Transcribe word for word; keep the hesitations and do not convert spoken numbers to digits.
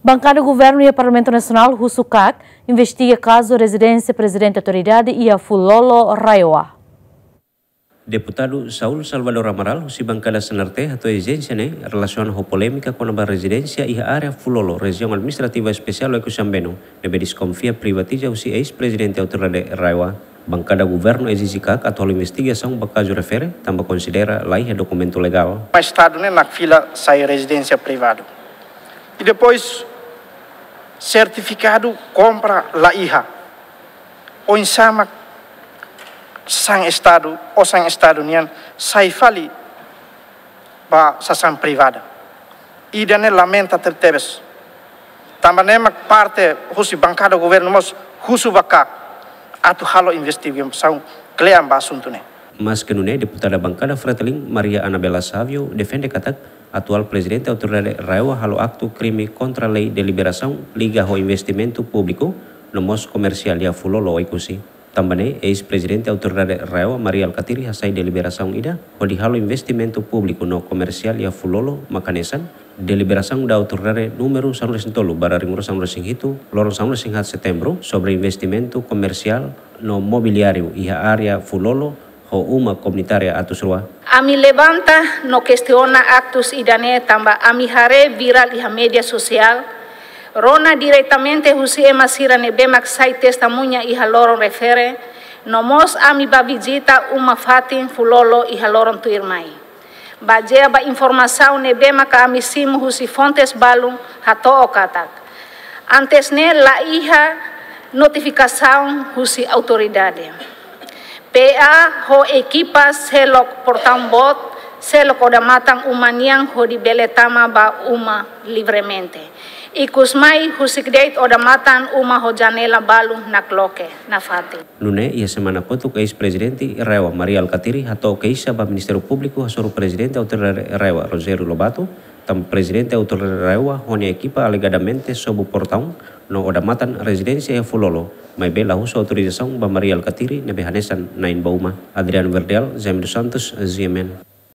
Bankada Governu iha Parlamentu Nasionál husu KAK investiga kazu rezidénsia Prezidente Autoridade iha Fulolo, RAEOA. Deputadu Saul Salvador Amaral, husi bankada CNRT, hato'o ezijénsia ne'e relasiona ho polémika kona-ba rezidénsia iha área Fulolo, Rejiaun Administrativa Espesiál Oekusi Ambeno, ne'ebé deskonfia privatiza husi eis-prezidente Autoridade RAEOA. Bankada Governu ezije KAK atu halo investigasaun ba kazu refere, tanba konsidera laiha dokumentu legál. Estadu ne'e nakfila sai rezidénsia privadu. I depois sertifikadu kompra laiha. Oinsá mak sasán Estadu, osan Estadu nian sai fali ba sasán privada. Ida-ne'e lamenta tebetebes. Tanba ne'e mak parte husi bankada Governu mós husu ba KAK atu halo investigasaun kle'an ba asuntu ne'e. Maske nune'e, deputada bankada Fretilin, Maria Anabela Savio, defende katak atuál Prezidente Autoridade RAEOA halo aktu krime kontra lei deliberasaun liga ho investimentu públiku no mós komersiál iha Fulolo, Oekusi. Tanba ne'e, eis-prezidente Autoridade RAEOA, Mari Alkatiri, hasai deliberasaun ida hodi halo investimentu públiku no komersiál iha Fulolo, mak hanesan deliberasaun da autoridade númeru sanulu-resin-tolu barra rimuru sanulu-resin-hitu, loron sanulu-resin-haat Setembru, sobre investimentu komersiál no mobiliáriu iha área Fulolo, ho uma komunitária atus rua. Ami levanta no kestiona aktus ida-ne'e tanba ami haree virál iha média sosiál, rona diretamente husi ema sira ne'ebé mak sai testemuña iha loron refere, no mós ami bá vizita uma fatin Fulolo iha loron tuirmai. Bazeia ba informasaun ne'ebé maka ami simu husi fontes balun hato'o katak antes ne'e laiha notifikasaun husi autoridade. P A ho ekipa selok portaun boot, selok odamatan uma nian hodi bele tama ba uma livremente. Ikusmai husik de'it odamatan uma ho janela balun nakloke nafatin. Nune'e, iha semana kotuk eis-prezidente RAEOA, Mari Alkatiri, hato'o keixa ba Ministériu Públiku hasoru Prezidente Autoridade RAEOA, Rogério Lobato, tanba Prezidente Autoridade RAEOA ho nia ekipa alegadamente sobu portaun no odamatan rezidénsia iha Fulolo, maibé la husu autorizasaun ba Mari Alkatiri ne'ebé hanesan na'in ba uma. Adriano Verdial, Jaime dos Santos, G M N.